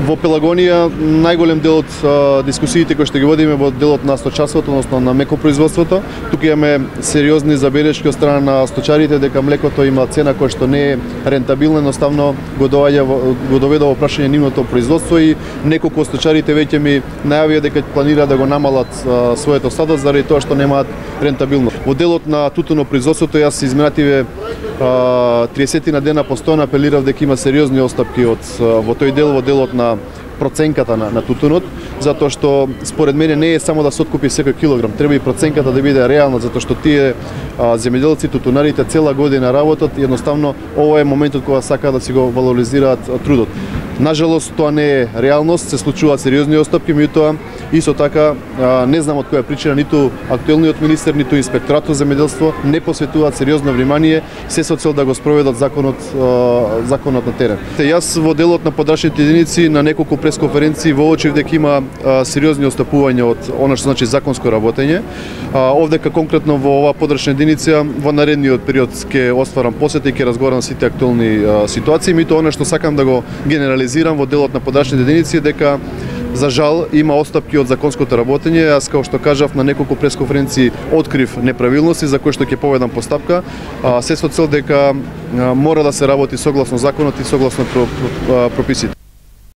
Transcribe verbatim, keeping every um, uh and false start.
Во Пелагонија најголем дел од а, дискусиите кои што ги водиме во делот на сточарството, односно на мекопроизводството. Тука имаме сериозни забелешки од страна на сточарите дека млекото има цена која што не е рентабилна, едноставно го доаѓа го доведе во прашање нивното производство и неколку од сточарите веќе ми најавија дека планираат да го намалат а, своето стадо заради тоа што немаат рентабилност. Во делот на тутунопроизводството јас изминативе триесет дена постојано апелирав дека има сериозни остапки од во тој дел, во делот на проценката на, на тутунот, затоа што според мене не е само да се откупи секој килограм, треба и проценката да биде реална, затоа што тие а, земјоделци, тутунарите цела година работат и едноставно ова е моментот кога сакаат да си го валоризираат трудот. Нажалост тоа не е реалност, се случуваат сериозни остапки, меѓутоа исто така а, не знам од која причина ниту актуелниот министер, ниту инспекторатот за земјоделство не посветуваат сериозно внимание се со цел да го спроведат законот а, законот на терен. Те јас во делот на подрачните единици на неколку пресконференции воочив дека има а, сериозни отстапувања од она што значи законско работење. А, овдека конкретно во оваа подрачна единица во наредниот период ќе остварам посета и ќе разговарам сите актуелни а, ситуации, меѓутоа она што сакам да го генерализирам во делот на подрачните единици дека за жал има отстапки од законското работење. Јас како што кажав на неколку пресконференции открив неправилности за кои што ќе поведам постапка, а, се со цел дека а, мора да се работи согласно законот и согласно прописите.